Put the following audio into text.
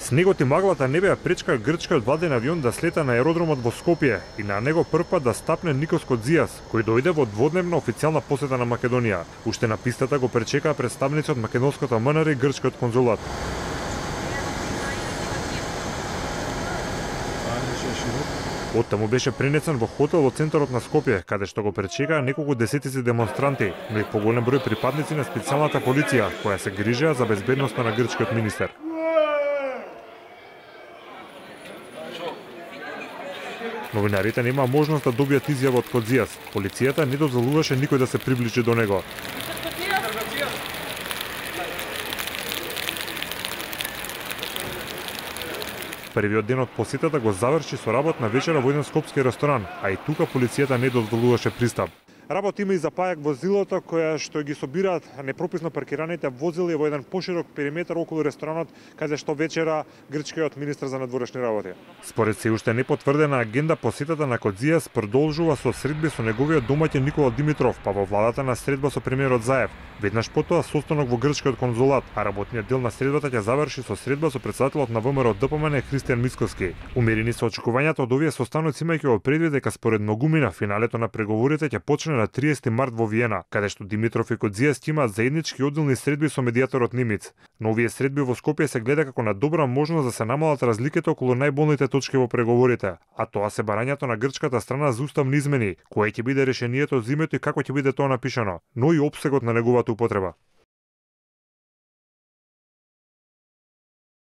Снегот и маглата не беа пречка грчкиот владен авион да слета на аеродромот во Скопје и на него првпат да стапне Никос Кодзијас, кој дојде во дводневна официјална посета на Македонија. Уште на пистата го пречекаа представници од македонското МНР и грчкиот конзулат. Оттаму беше пренесен во хотел во центарот на Скопје, каде што го пречекаа неколку десетици демонстранти, но и поголем број припадници на специјалната полиција, која се грижеа за безбедноста на грчкиот министер. Новинарите нема можност да добијат изјава од Кодзијас. Полицијата не дозволуваше никој да се приближи до него. Првиот ден од посетата го заврши со работна вечера во еден скопски ресторан, а и тука полицијата не дозволуваше пристап. Работа има и за пајак возилото која што ги собираат непрописно паркираните возила во еден поширок периметар околу ресторанот, каде што вечера грчкиот министер за надворешни работи. Според се уште непотврдена агенда, посетата на Кодзијас продолжува со средби со неговиот домаќин Никола Димитров, па во владата на средба со премиерот Заев. Веднаш потоа состанок во грчкиот конзулат, а работниот дел на средбата ќе заврши со средба со председателот на ВМРО ДПМН Христијан Мицкоски. Умерени се очекувањата од овие состаноци, имајќи во предвид дека според многумина финалето на преговорите ќе почне на 30 март во Виена, каде што Димитров и Кодзијас имаат заеднички одделни средби со медијаторот Нимиц. Но овие средби во Скопје се гледа како на добра можност да се намалат разликите околу најболните точки во преговорите, а тоа се барањето на грчката страна за уставни измени, кое ќе биде решението за името и како ќе биде тоа напишано, но и опсегот на неговата употреба.